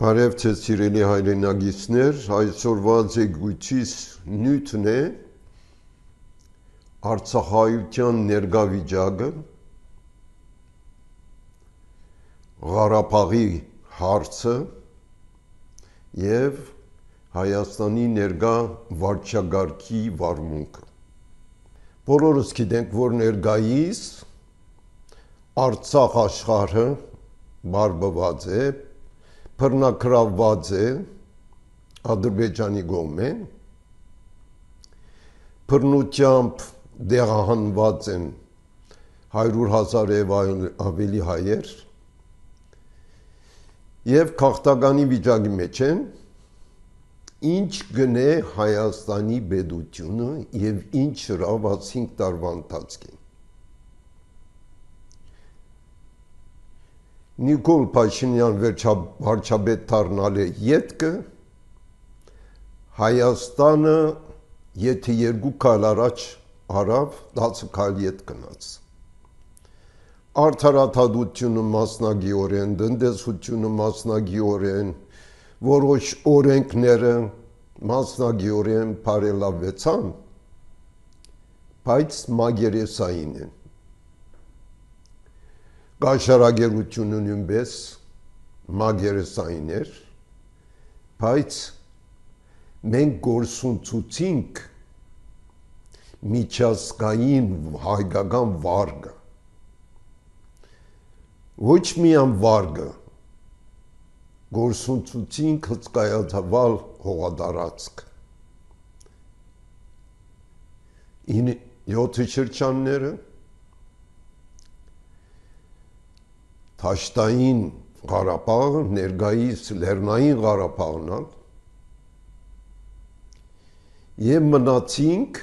Բարև ձեզ սիրելի հայրենագիտներ, այսօրվա զեկույցիս նյութն է Արցախայության ներկա վիճակը, Ղարաբաղի հարցը եւ Հայաստանի ներկա վարչագահի վարմունքը։ Բոլորս գիտենք, որ ներկայիս Արցախ աշխարհը բարբված է, բռնակրաված է Ադրբեջանի կողմեն, բռնությամբ դեղահանված են 100,000 եւ ավելի հայեր եւ քաղաքտականի վիճակի մեջ են, ինչ գնե Հայաստանի պետությունը եւ ինչ հրավ 5 տարվա ընթացքին։ Նիկոլ Փաշինյան վարչապետ դառնալը ետքը Հայաստանը եթե 2 քայլ առաջ արավ 10 քայլ ետ գնաց։ Արդարադատությունը մասնագիտորեն, տնտեսությունը մասնագիտորեն, որոշ օրենքները մասնագիտորեն բարելավվեցան, բայց մագերեսային են։ Կաշառակերությունը նույնպես մագերեսային էր, բայց մենք գործունեությունք միջազգային հայկական վարկը, ոչ միայն վարկը, գործունեությունք հսկայածավալ հողատարածք, 7 շրջանները, Թաշտային Ղարաբաղը, ներկայիս Լեռնային Ղարաբաղն ալ, եւ մնացինք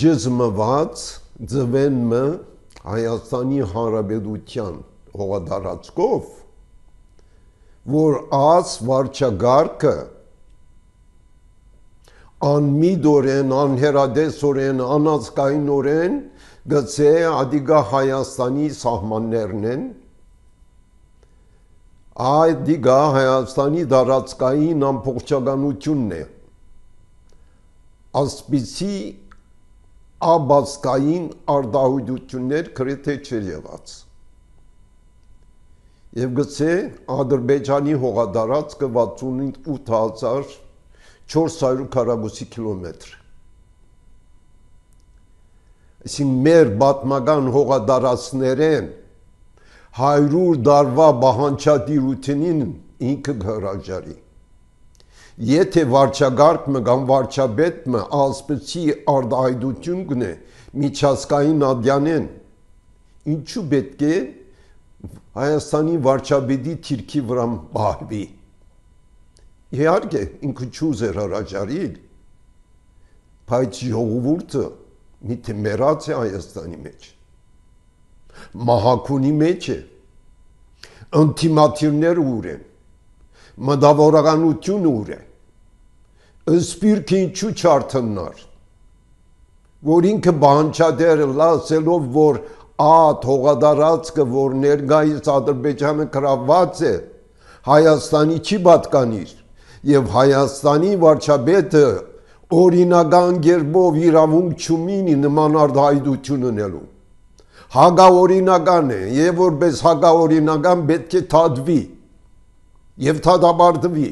ջզմված ձվենը Հայաստանի Հանրապետության հողատարածքով, որ աս վարչագարկը անմիդորեն, անհերադեսորեն, անազգայնորեն գծե ադիգա Հայաստանի սահմաններն են, ադիգա Հայաստանի դարածքային ամբողջականությունն է, ասպիսի աբասկային արտահայտություններ գրեթե չէր եղած։ Եվ գծե Ադրբեջանի հողատարածքը 68,400 քառակուսի կիլոմետր։ Այսինքն մեր պատմական հողատարածքներեն 100 տարվա բանջարդիրությունին ինքը հրաժարի։ Եթե վարչագարկը կամ վարչապետը ասպեցի արտահայտություն կնե միջազգային ադյանեն, ինչու պետք է Հայաստանի վարչապետի թիրքի վրա բահվի։ Իհարկե ինքը չուզեր հրաժարիլ, բայց ժողովուրդը միթե մեռած է Հայաստանի մեջ, մահակունի մեջ է, ինտիմատիվները ուր են, մտավորականությունը ուր է, սպիրկը ինչու չարթնար, որ ինքը բանջարդերը լասելով, որ ատ հողատարածքը, որ ներկայիս Ադրբեջանը գրաված է, Հայաստանի չի պատկանիր, եւ Հայաստանի վարչապետը օրինական գերբով իրավունք չունի նման արտահայտություն ունելու։ Հակաօրինական է, եւ որպես հակաօրինական պետք է թադվի եւ թադաբարդվի։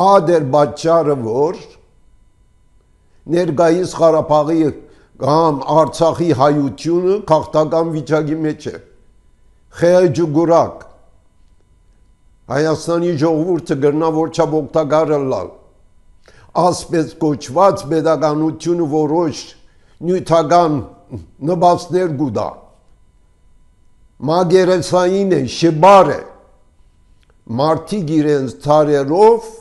Ադեր պատճառը, որ ներկայիս Ղարաբաղի կամ Արցախի հայությունը քաղաքական վիճակի մեջ է։ Խեյջուգուրակ Հայաստանի ժողովուրդը գրնա որ չափ օգտակար լալ, ասպես կոչված պետականությունը որոշ նյութական նպաստներ գուտա, մագերեսային է, շբար է, մարդիկ իրենց թարերով,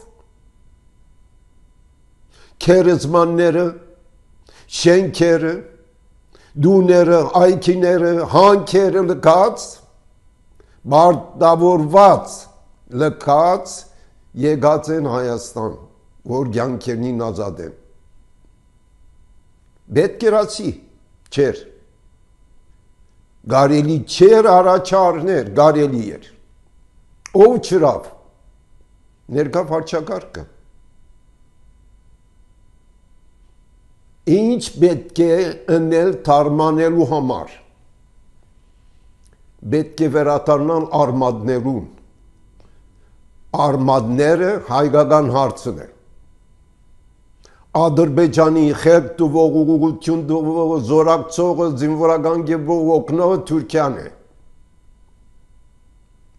քերեզմանները, շենքերը, դուները, այգիները, հանքերը լքած, մարտավորված լքած եկած են Հայաստան, որ կյանքերին ազատ են։ Պետք էր ասի, չէր։ Կարելի չէր առաջարներ, կարելի էր։ Ով չրավ։ Ներկա վարչակարգը։ Ինչ պետք է ընել թարմանելու համար։ Պետք է վերադառնալ արմատներուն։ Արմատները հայկական հարցն է։ Ադրբեջանի խելք տվող ուղղություն տվող զորակցողը զինվորական գևող օգնողը Թուրքիան է։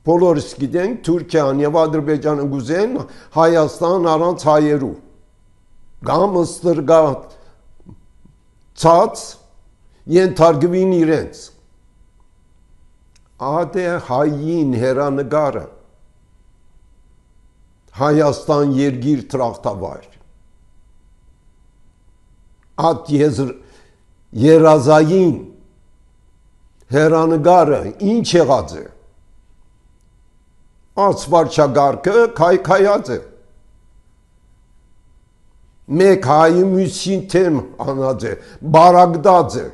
Բոլորս գիտենք Թուրքիան եւ Ադրբեջանը գուզեն Հայաստան առանց հայերու։ Կամ ստրգա ցած ենթարկվին իրենց։ Ադե հային հերանգարը Հայաստան երգիր տրախտավայր։ Ատ երազային հերանգարը ինչ եղած է։ Ած վարչագարկը քայքայած է։ Մեկ հայի մյուսին թեմ անած է, բարագդած է։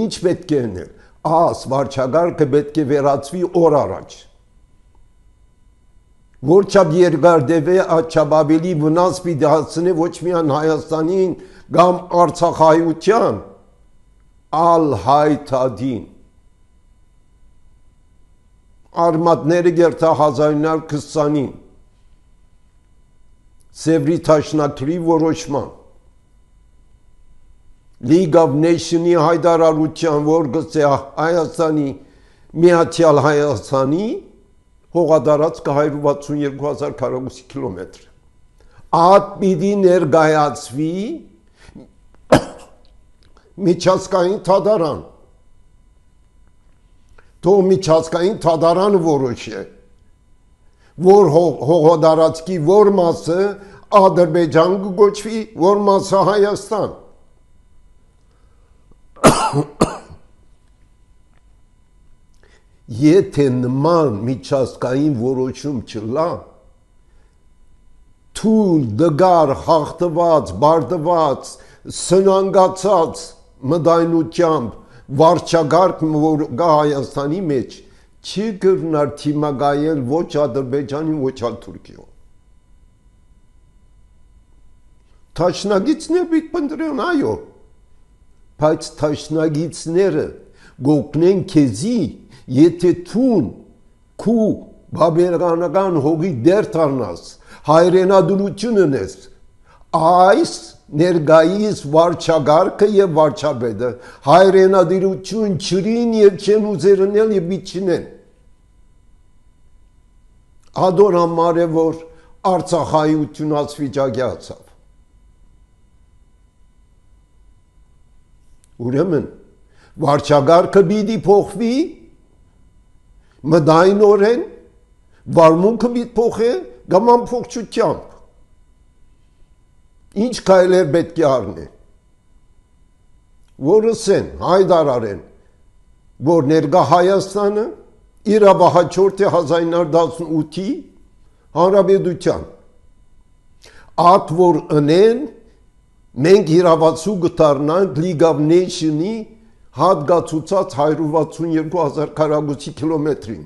Ինչ պետք է անել։ Ած վարչագարկը պետք է վերածվի օր առաջ։ Որչափ երկար դեպի աչափ ավելի վնաս պիտի հասցնի ոչ միայն Հայաստանին կամ Արցախայության, ալ հայտադին։ Արմատները գերտա 1920-ին Սևրի Թաշնակրի որոշման League of Nations-ի հայտարարության, որ գծե Հայաստանի Միացյալ Հայաստանի հողատարածքը 162,000 քառակուսի կիլոմետր։ Ատ պիտի ներկայացվի միջազգային թադարան։ Թող միջազգային թադարանը որոշի, որ հողատարածքի որ մասը Ադրբեջան կոչվի, որ մասը Հայաստան։ Եթե նման միջազգային որոշում չլա, թույլ դգար հաղթված, բարդված, սնանգացած մտայնությամբ վարչագարկ, որ գա Հայաստանի մեջ, չի կրնար թիմագայել ոչ Ադրբեջանի, ոչ Թուրքիո։ Թաշնագիցներ պիտի պնդրեն, այո, բայց թաշնագիցները գոկնեն քեզի, եթե թուն քու բաբերգանական հողի դեր թարնաս, հայրենադրություն ունես, այս ներգայիս վարչագարկը եւ վարչապետը հայրենադիրություն չրին եւ չեն ուզերնել եւ բիչինեն։ Ադոր համար է, որ Արցախայություն ասվիճակի ացավ։ Ուրեմն, վարչագարկը պիտի փոխվի, մտայնորեն, վարմունքը պիտի փոխե, կամ ամփոփչությամբ։ Ինչ քայլեր պետք է առնեն, որ ասեն, հայտարարեն, որ ներկա Հայաստանը իրավահաջորդ է 1918-ի հանրապետության։ Ատ որ ընեն, մենք իրավացու կդառնանք League of Nations-ի հատկացուցած 162,000 քառակուսի կիլոմետրին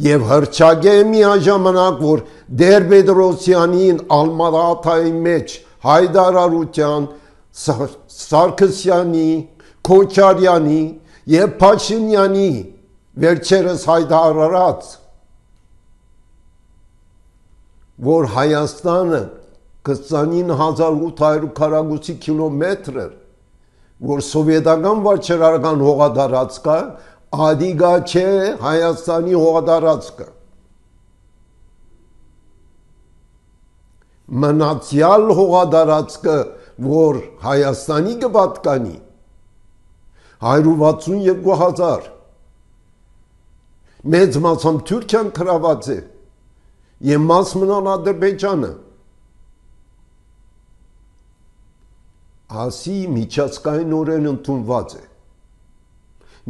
եւ հրճագե միաժամանակ, որ Տեր-Պետրոսյանին Ալմատայի մեջ հայտարարության Սարգսյանի, Քոչարյանի եւ Փաշինյանի վերջերս հայտարարած, որ Հայաստանը 29,800 քառակուսի կիլոմետր, որ սովետական վարչարարական հողատարածք է, ադիգա չէ Հայաստանի հողատարածքը։ Մնացյալ հողատարածքը, որ Հայաստանի կպատկանի, 162,000, մեծ մասամբ Թուրքիան գրաված է, եւ մաս մնան Ադրբեջանը։ Ասի միջազգայինորեն ընդունված է։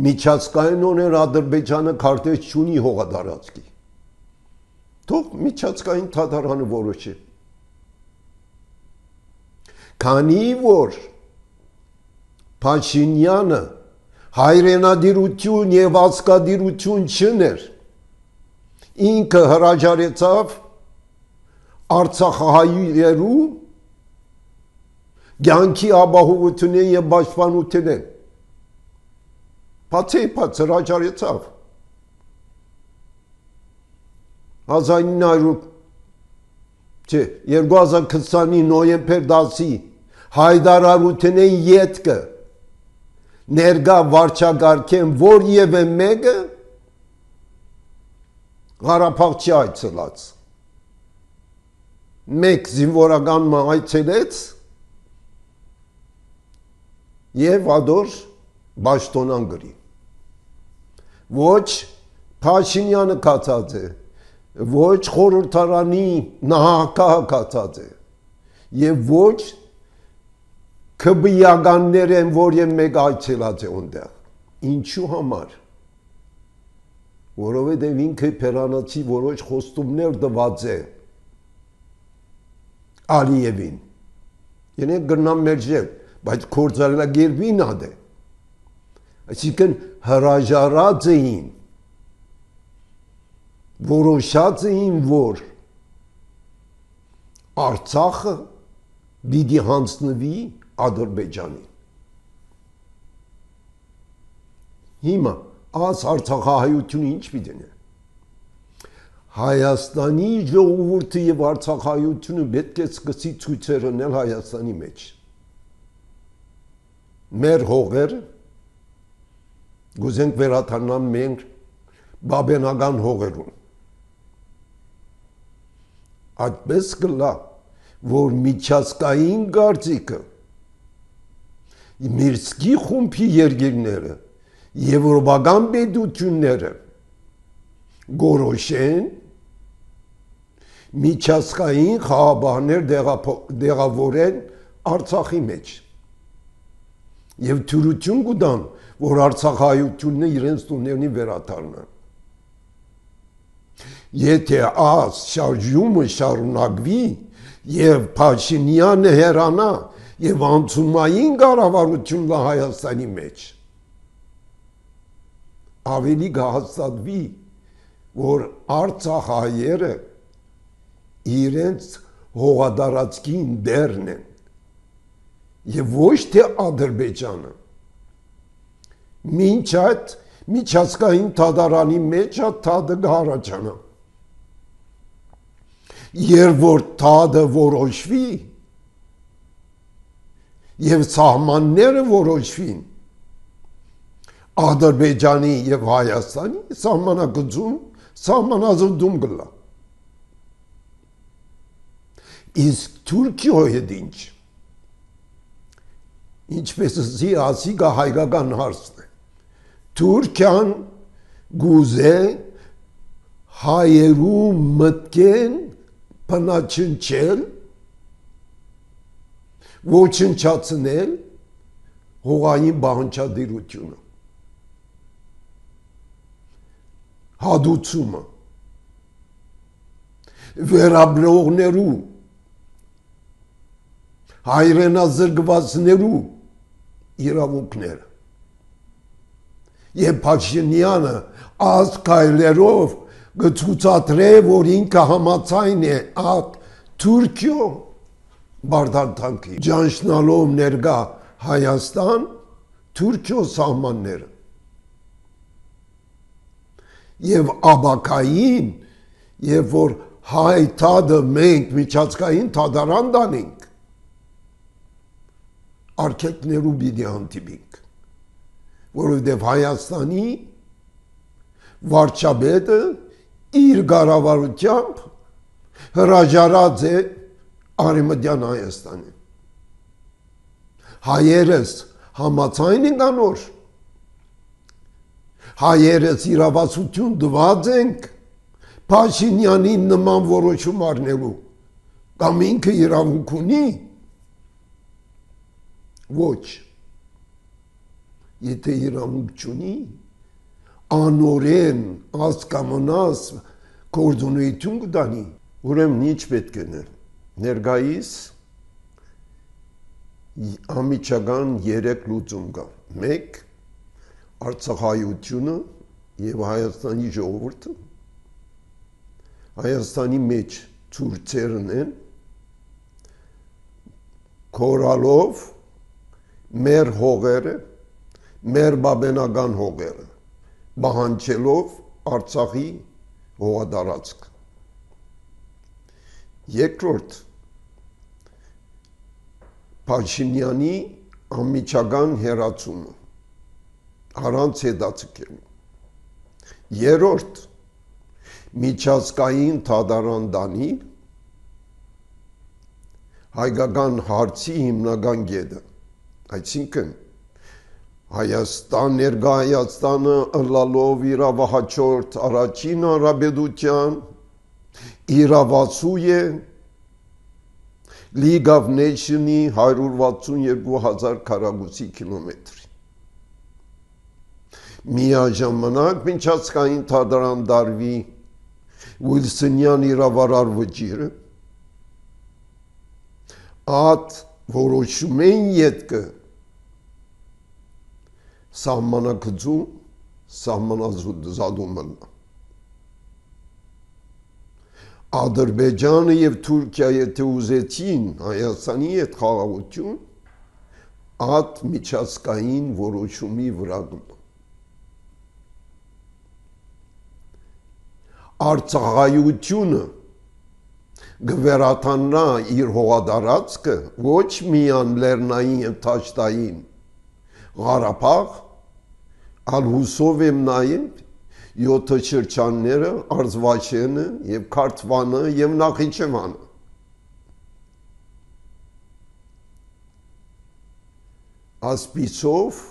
Միջազգայինորեն Ադրբեջանը քարտեզ չունի հողատարածքի։ Թող միջազգային թադարանը որոշի։ Քանի որ Փաշինյանը հայրենադիրություն եւ ազգադիրություն չներ, ինքը հրաժարեցավ Արցախահայերու կյանքի ապահովությունն եւ պաշտպանությունն, բացի հրաժարեցավ 2020-ի նոյեմբեր 10-ի հայտարարությունն ետքը ներկա վարչագարքեն որևէ մեկը Ղարաբաղ չի այցելած, մեկ զինվորական այցելեց եւ ադոր Բաշտոնան գրի, ոչ Փաշինյանը կացած է, ոչ խորհրդարանի նահանգահը կացած է եւ ոչ քբիականներ են, որ եւ մեկ այցելած է այնտեղ, ինչու համար, որովհետեւ ինքը Փերանացի որոշ խոստումներ տված է Ալիևին, ենեք գնամ մերժել, բայց կործանագերվին ադե, այսինքն հրաժարած էին, որոշած էին, որ Արցախը պիտի հանձնվի Ադրբեջանին։ Հիմա այս Արցախահայությունը ինչ պիտի լինի։ Հայաստանի ժողովուրդը եւ Արցախահայությունը պետք է սկսի ցույցեր անել Հայաստանի մեջ։ Մեր հողերը գուզենք վերադառնան մենք բաբենական հողերուն։ Այդպես կլա, որ միջազգային գործիքը Միրսկի խումբի երկիրները եվրոպական պետությունները գորոշեն միջազգային խաղաբաններ դեղավորեն Արցախի մեջ եւ թյուրություն կտան, որ Արցախահայությունն իրենց տուներնի վերադառնան։ Եթե այս շարժումը շարունակվի եւ Փաշինյանը հեռանա եւ անցումային կառավարությունն Հայաստանի մեջ, ավելի կհաստատվի, որ Արցախահայերը իրենց հողատարածքին դերն են եւ ոչ թե Ադրբեջանը։ Մինչ այդ միջազգային դատարանի մեջ թադը կհառաջանա։ Երբ որ թադը որոշվի եւ սահմանները որոշվին Ադրբեջանի եւ Հայաստանի սահմանակցում սահմանազդում կլա։ Իսկ Թուրքիայի հետ ինչ։ Ինչպես ասի հայկական հարցն է։ Թուրքիան գուզե հայերու մտքեն բնաչնչել, ոչնչացնել հողային բանջարդիրությունը, հադուցումը, վերաբրողներու, հայրենազրկվածներու իրավունքները։ Եվ Փաշինյանը այս քայլերով կցուցադրե, որ ինքը համաձայն է այդ Թուրքիո բարդանքի ճանչնալով ներկա Հայաստան Թուրքիո սահմանները եւ աբակային, երբ որ հայ թադը մենք միջազգային թադարան դանենք, արգելքներու պիտի հանդիպենք, որովհետև Հայաստանի վարչապետը իր կառավարությամբ հրաժարած է Արևմտյան Հայաստանի։ Հայերս համաձայն են անոր, հայերս իրավասություն տված ենք Փաշինյանի նման որոշում առնելու, կամ ինքը իրավունք ունի, ոչ, եթե իրավունք չունի, անորեն ասկամանաս կորդոնույթուն կտանի, ուրեմն ինչ պետք է ներկայիս ամիջական 3 լուծում կա։ 1. Արցախայությունը եւ Հայաստանի ժողովուրդը Հայաստանի մեջ ցուրցերն են կորալով մեր հողերը, մեր բաբենական հողերը, բահանջելով Արցախի հողադարածք։ Երկրորդ, Փաշինյանի անմիջական հերացումը, առանց հետաձգելու։ Երրորդ, միջազգային թադարան դանի հայկական հարցի հիմնական կետը, այսինքն Հայաստան, ներկա Հայաստանը ըլլալով իրավահաջորդ առաջին հանրապետության իրավացու է League of Nations-ի 162,000 քառակուսի կիլոմետրի։ Միաժամանակ միջազգային թադարան դարվի Ուիլսոնյան իրավարար վճիրը այդ որոշումեն ետքը սահմանակցում սահմանազատումն Ադրբեջանը եւ Թուրքիայի եթե ուզեցին Հայաստանի հետ խաղաղություն այդ միջազգային որոշումի վրա Արցախայությունը գվերաթանա իր հողադարածքը ոչ միան լեռնային եւ թաշտային Ղարաբաղ, այլ հուսով եմ նայել 7 շրջանները, Արզվաշենը եւ Քարթվանը եւ Նախիջևանը։ Ասպիսով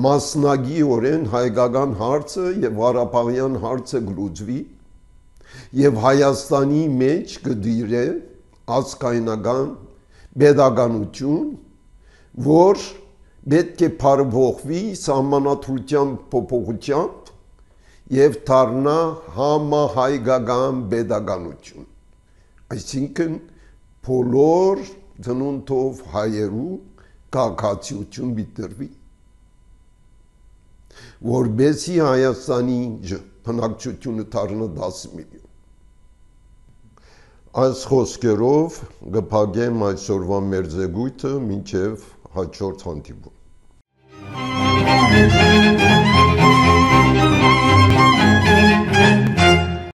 մասնագիորեն հայկական հարցը եւ Ղարաբաղյան հարցը գլուծվի եւ Հայաստանի մեջ կդիրե ազգայնական pedagogiություն, որ պետք է փարվողվի սահմանադրության փոփոխությամբ եւ դառնա համահայկական pedagogiություն։ Այսինքն բոլոր ծնունդով հայերու քաղաքացիություն բիտրվի, որբեսի Հայաստանի բնակչությունը դառնա 10 միլիոն։ Այս խոսքերով կփակեմ այսօրվա մեր զեկույցը մինչև հաջորդ հանդիպում։